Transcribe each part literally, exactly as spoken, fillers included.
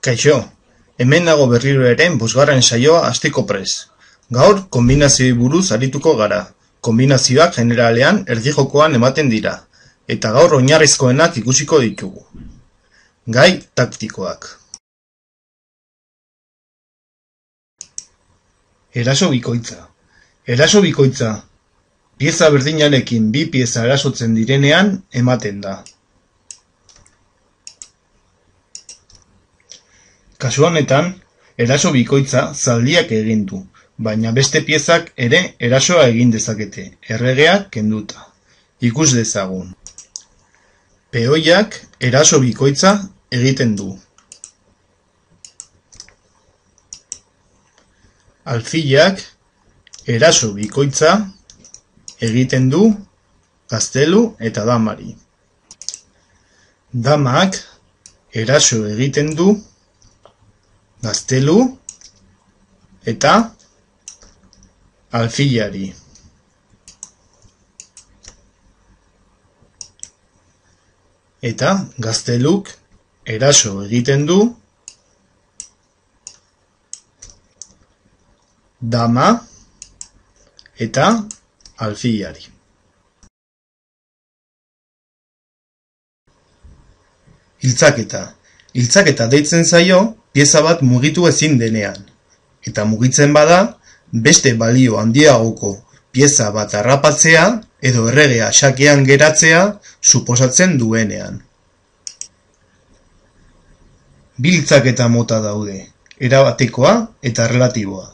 Kaixo, hemen nago berriro ere bosgarren saioa hasteko prest. Gaur konbinazioei buruz arituko gara. Konbinazioak generalean erdijokoan ematen dira, eta gaur oinarrizkoenak ikusiko ditugu. Gai taktikoak. Eraso bikoitza. Eraso bikoitza, pieza berdinarekin bi pieza erasotzen direnean ematen da. Kasu honetan, eraso bikoitza zaldiak egin du, baina beste piezak ere erasoa egin dezakete, erregeak kenduta. Ikus dezagun. Peoiak eraso bikoitza egiten du. Alfilak eraso bikoitza egiten du gaztelu eta damari. Damak eraso egiten du gaztelu eta alfilari. Eta gazteluk eraso egiten du dama eta alfilari. Hiltzaketa. Hiltzaketa deitzen zaio pieza bat mugitu ezin denean, eta mugitzen bada, beste balio handiagoko pieza bat harrapatzea edo erregea xakean geratzea suposatzen duenean. Bi hiltzaketa mota daude, erabatekoa eta erlatiboa.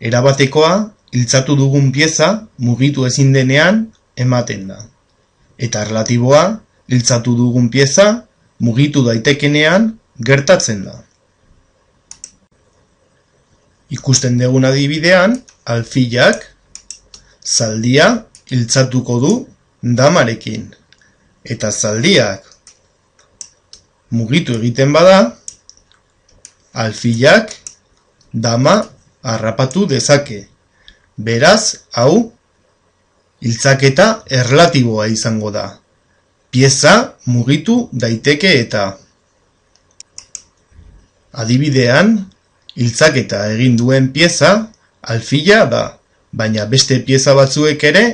Erabatekoa, hiltzatu dugun pieza mugitu ezin denean ematen da. Eta erlatiboa, hiltzatu dugun pieza mugitu daitekenean gertatzen da. Ikusten dugun adibidean, alfilak zaldia hiltzatuko du damarekin. Eta zaldiak mugitu egiten bada, alfilak dama harrapatu dezake. Beraz, hau, hiltzaketa erlatiboa izango da. Pieza mugitu daiteke eta. Adibidean, hiltzaketa egin duen pieza alfila da, baina beste pieza batzuek ere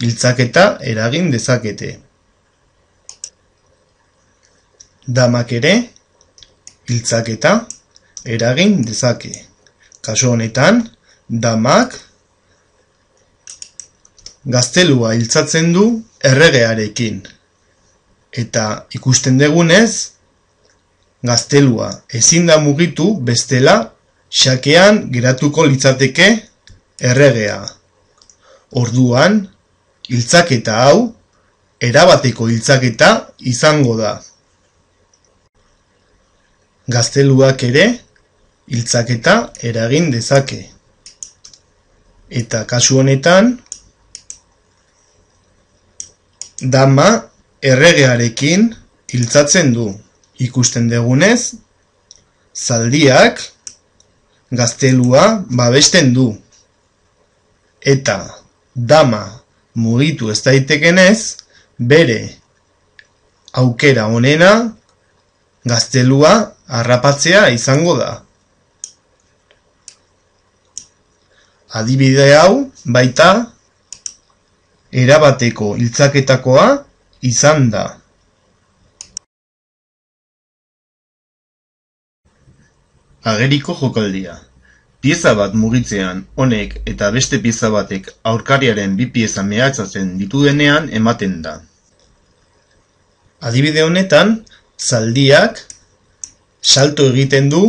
hiltzaketa eragin dezakete. Damak ere hiltzaketa eragin dezake. Kasu honetan, damak gaztelua hiltzatzen du erregearekin. Eta ikusten dugunez, gaztelua ezin da mugitu bestela xakean geratuko litzateke erregea. Orduan, hiltzaketa hau erabateko hiltzaketa izango da. Gazteluak ere hiltzaketa eragin dezake. Eta kasu honetan, dama erregearekin hiltzatzen du. Ikusten dugunez, zaldiak gaztelua babesten du. Eta dama mugitu ez daitekenez, bere aukera onena gaztelua harrapatzea izango da. Adibide hau baita erabateko hiltzaketakoa izan da. Ageriko jokaldia. Pieza bat mugitzean honek eta beste pieza batek aurkariaren bi pieza mehatxatzen ditu denean ematen da. Adibide honetan, zaldiak salto egiten du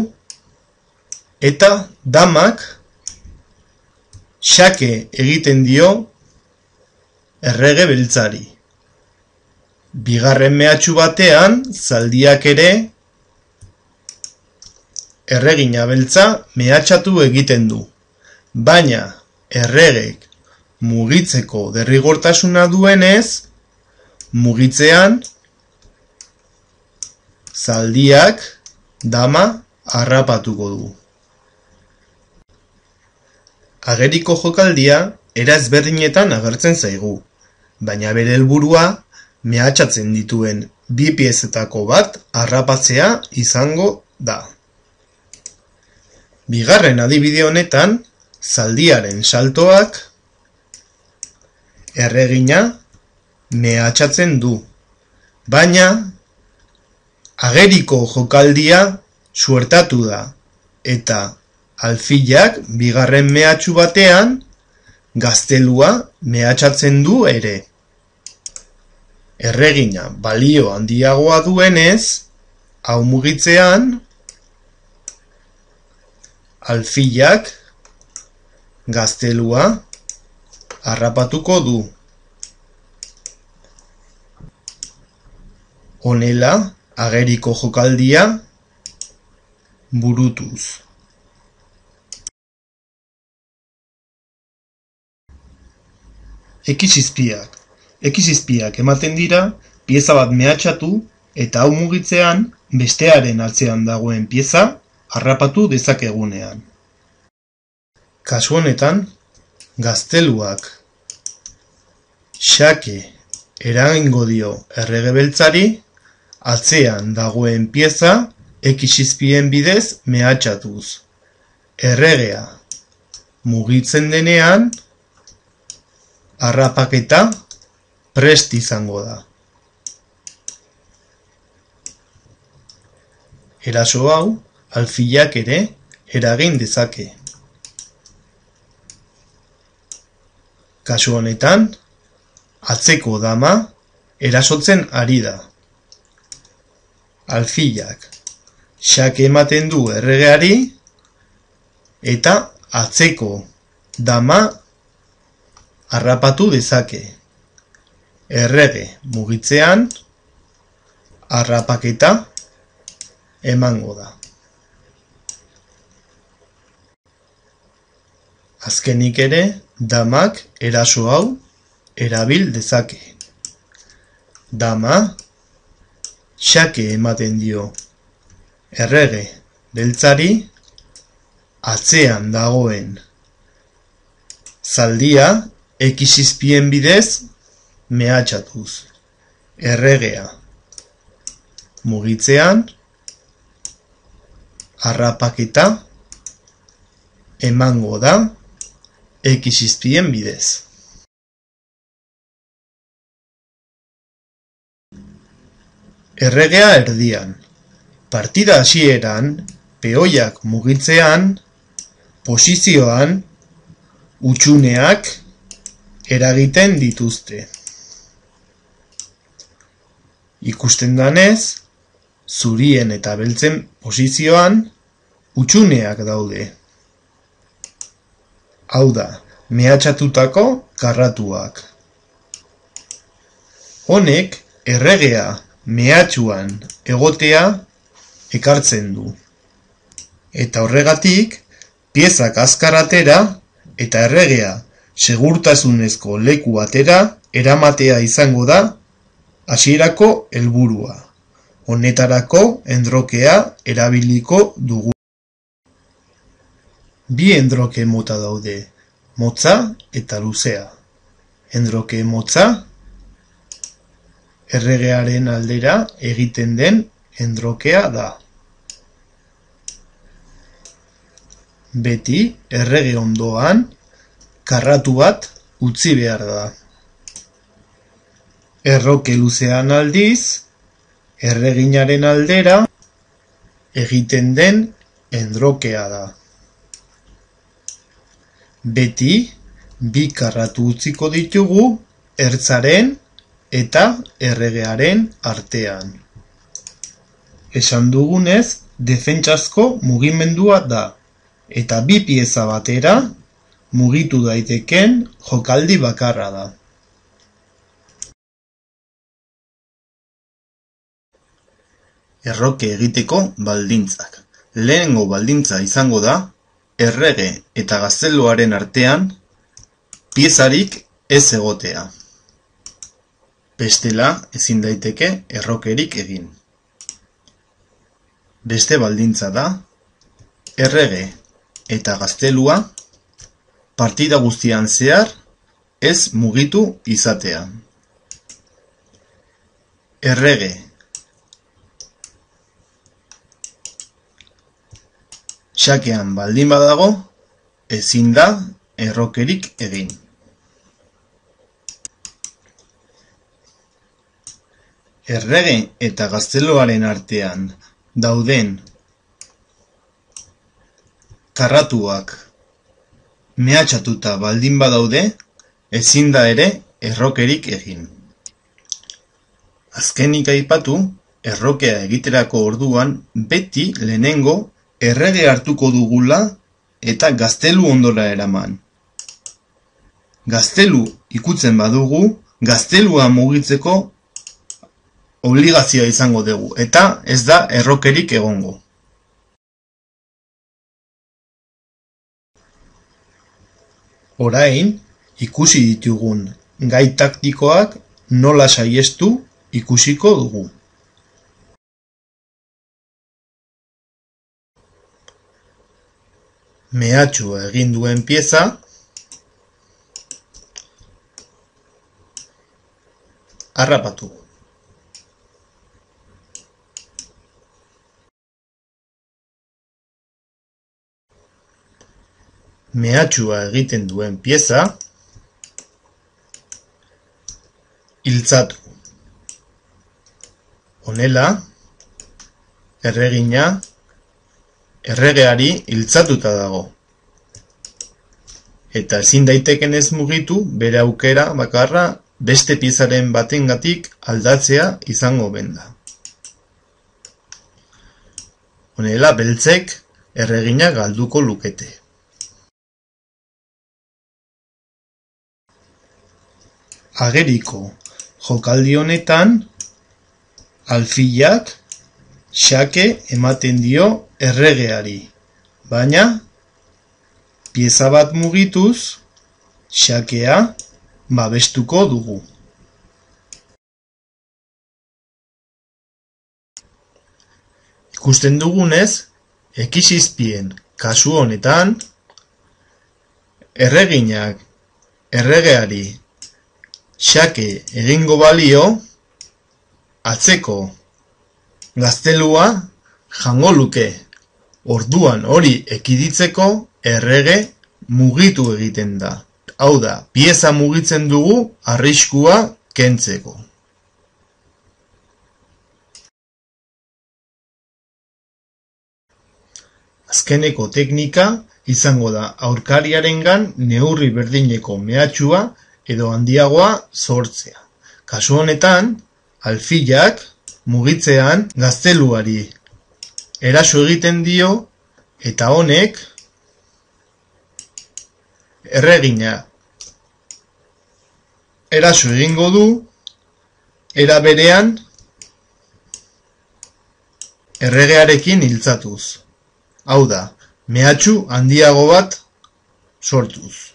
eta damak xake egiten dio errege beltzari. Bigarren mehatxu batean, zaldiak ere erregina beltza mehatxatu egiten du, baina erregek mugitzeko derrigortasuna duenez, mugitzean zaldiak dama harrapatuko du. Ageriko jokaldia era ezberdinetan agertzen zaigu, baina bere helburua mehatxatzen dituen bi piezetako bat harrapatzea izango da. Bigarren adibide honetan, zaldiaren saltoak erregina mehatxatzen du, baina ageriko jokaldia suertatu da, eta alfilak bigarren mehatxu batean gaztelua mehatxatzen du ere. Erregina balio handiagoa duenez, hau mugitzean, alfilak gaztelua harrapatuko du. Honela, ageriko jokaldia burutuz. Ekizizpiak. Ekizizpiak ematen dira, pieza bat mehatxatu eta hau mugitzean bestearen atzean dagoen pieza harrapatu dezakegunean. Kasu honetan, gazteluak xake eragingo dio errege beltzari atzean dagoen pieza ekizizpien bidez mehatxatuz. Erregea mugitzen denean harrapaketa prest izango da. Eraso hau alfilak ere eragin dezake. Kasu honetan, atzeko dama erasotzen ari da. Alfilak xake ematen du erregeari eta atzeko dama harrapatu dezake. Errege mugitzean harrapaketa emango da. Azkenik ere, damak eraso hau erabil dezake. Dama xake ematen dio errege beltzari atzean dagoen zaldia ekizizpien bidez mehatxatuz. Erregea mugitzean harrapaketa emango da ekizizpien bidez. Erregea erdian. Partida hasieran, peoiak mugitzean, posizioan, hutsuneak eragiten dituzte. Ikusten danez, zurien eta beltzen posizioan hutsuneak daude. Hau da, mehatxatutako karratuak. Honek erregea mehatxuan egotea ekartzen du. Eta horregatik, piezak azkar atera eta erregea segurtasunezko leku batera eramatea izango da hasierako helburua. Honetarako endrokea erabiliko dugu. Bi endroke mota daude, motza eta luzea. Endroke motza, erregearen aldera egiten den endrokea da. Beti errege ondoan karratu bat utzi behar da. Erroke luzean aldiz, erreginaren aldera egiten den endrokea da. Beti bi karratu utziko ditugu ertzaren eta erregearen artean. Esan dugunez, defentsazko mugimendua da, eta bi pieza batera mugitu daiteken jokaldi bakarra da. Erroke egiteko baldintzak. Lehenengo baldintza izango da, errege eta gazteluaren artean piezarik ez egotea. Bestela ezin daiteke errokerik egin. Beste baldintza da, errege eta gaztelua partida guztian zehar ez mugitu izatea. Errege Xakean baldin badago, ezin da errokerik egin. Errege eta gazteluaren artean dauden karratuak mehatxatuta baldin badaude, ezin da ere errokerik egin. Azkenik aipatu, errokea egiterako orduan beti lehenengo errege hartuko dugula eta gaztelu ondora eraman. Gaztelu ikutzen badugu, gaztelua mugitzeko obligazioa izango dugu, eta ez da errokerik egongo. Orain, ikusi ditugun gai taktikoak nola saihestu ikusiko dugu. Mehatxua egin duen pieza harrapatu. Mehatxua egiten duen pieza iltzatu. Honela, erregina erregeari iltzatuta dago. Eta ezin daiteken ez mugitu bere aukera bakarra beste piezaren batengatik aldatzea izango benda. Honela, beltzek erregina galduko lukete. Ageriko jokaldi honetan, alfilak xake ematen dio erregeari, baina pieza bat mugituz xakea babestuko dugu. Ikusten dugunez, ekizizpien kasu honetan, erreginak erregeari xake egingo balio, atzeko gaztelua jango luke. Orduan hori ekiditzeko errege mugitu egiten da. Hau da, pieza mugitzen dugu arriskua kentzeko. Azkeneko teknika izango da aurkariarengan neurri berdineko mehatxua edo handiagoa sortzea. Kasu honetan, alfilak mugitzean gazteluari eraso egiten dio eta honek erregina eraso egingo du, era berean erregearekin iltzatuz. Hau da, mehatxu handiago bat sortuz.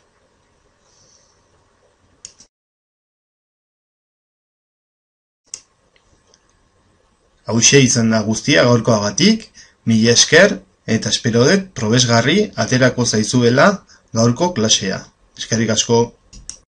Hauxe izan da guztia gaurkoagatik, mila esker eta espero dut probesgarri aterako zaizuela gaurko klasea. Eskerrik asko.